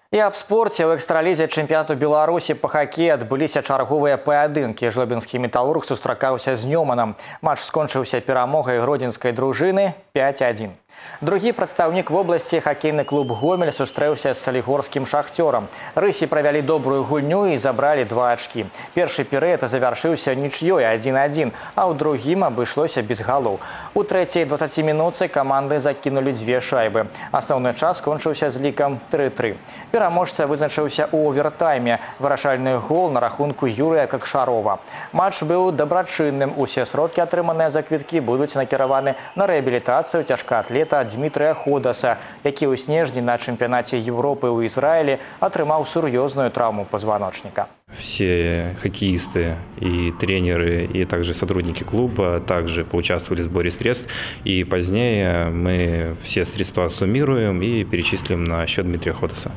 І аб спорце ў экстралізе чэмпіянату Беларусі па хакеі адбыліся чарговыя паядынкі. Жлобінскі металург сустракаўся з Нёманам. Матч скончыўся перамогай гродзенскай дружыны 5-1. Другі прадстаўнік вобласці, хакейны клуб «Гомель», сустрэўся з салігорскім «Шахцёрам». Рысі правялі добрую гульню і забралі 2 ачкі. Першы перыяд завяршыўся нічыёй 1-1, а ў другім абышлося без галоў. У трэцяй 20 мінутцы каманды закінулі 2 шайбы. Асноўны час скончыўся з лікам 3-3. Пераможца вызначыўся ў овертайме. Вырашальны гол на рахунку Юрыя Какшарова. Матч быў дабрачынным. Усе сродкі, атрыманыя за квіткі, будуць накіраваны на рэабілітацыю цяжкаатлета Дмітрыя Ходаса, які ў снежні на чэмпіянаце Европы ў Израиле атрымаў сур'ёзную травму позвоночника. Все хоккеисты и тренеры, и также сотрудники клуба также поучаствовали в сборе средств. И позднее мы все средства суммируем и перечислим на счет Дмитрия Ходаса.